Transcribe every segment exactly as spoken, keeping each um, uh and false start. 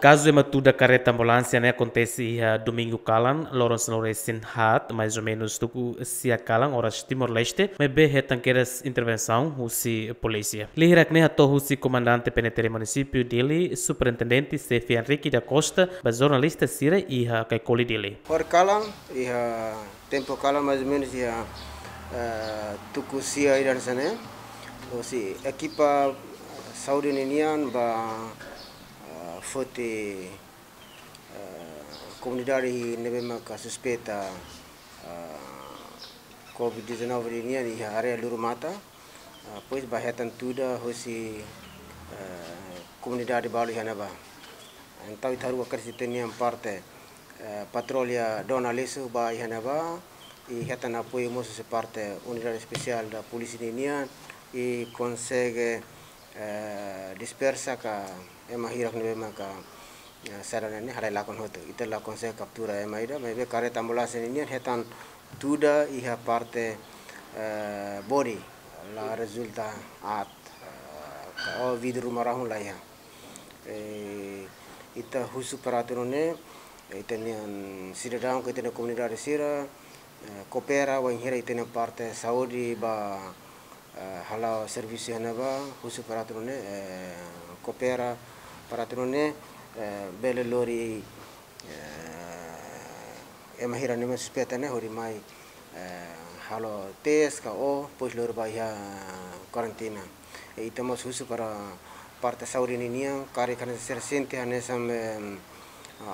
Kazu ema tuda kareta ambulánsia ne'e akontese iha domingu kalan, loron sanulu-resin-haat, mais ou menus tuku sia kalan, oras Timor-Leste, maibé hetan kedas intervensaun husi polísia. Lia hirak ne'e hato'o husi Komandante P N T L Munisípiu Dili, Superintendente Xefe Henrique da Costa, ba jornalista sira iha Caicoli, Dili. Ohin kalan, iha tempu kalan mais ou menus iha, eh, tuku sia ida hanesan ne'e, husi ekipa saúde ninian ba, eh, foti, eh, komunidade ne'ebé maka suspeita, eh, covid dezanove ninian iha área Lurumata. Ah, depois ba hetan tuda husi, eh, komunidade balu iha ne'ebá. Entaun ita haruka kedas ita-nia parte, eh, patrulla Dona Lesu ba iha ne'ebá, i hetan apoiu mós husi parte unidade espesiál da polísia ninian, i konsege, eh, dispersa ka ema hirak ne'ebé maka, eh, sira ne'e halai lakon hotu. Ita la konsege kaptura ema ida, maibé kareta ambulánsia ninian hetan tuda iha parte, eh, bodi, la rezulta aat, eh, ka o vidru ruma rahun laiha. Eh, ita husu para atu nune'e, ita-nia sidadaun ka ita-nia komunidade sira, eh, koopera wainhira ita-nia parte saúde ba, eh, hala'o servisu iha ne'ebá, husu para atu nune'e, eh, koopera para atu nune'e, eh, bele lori, eh, ema hirak ne'ebé suspeita ne'e hodi mai, eh, halo tes ka o, depois lori ba iha karantina. I ita mós husu para parte saúde ninian, karik hanesan sira sente hanesan, em,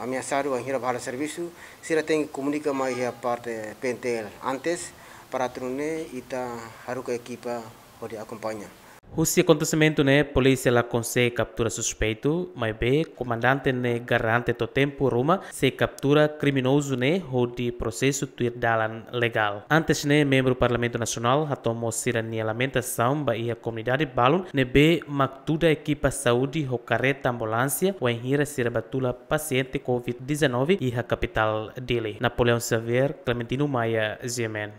ameasadu wainhira ba halo servisu, sira tenke komunika mai iha parte P N T L antes, para atu nune'e ita haruka ekipa hodi akompaña. Husi akontesimentu ne'e, polísia la konsege kaptura suspeitu, maibé komandante ne'e garante to'o tempu ruma sei kaptura kriminozu ne'e hodi prosesu tuir dalan legál. Antes ne'e, membru Parlamentu Nasionál hato'o mós sira-nia lamentasaun ba iha komunidade balun ne'ebé mak tuda ekipa saúde ho kareta ambulánsia wainhira sira ba tula pasiente covid dezanove iha kapitál Dili. Napoleão Xavier, Clementino Maia, G M N.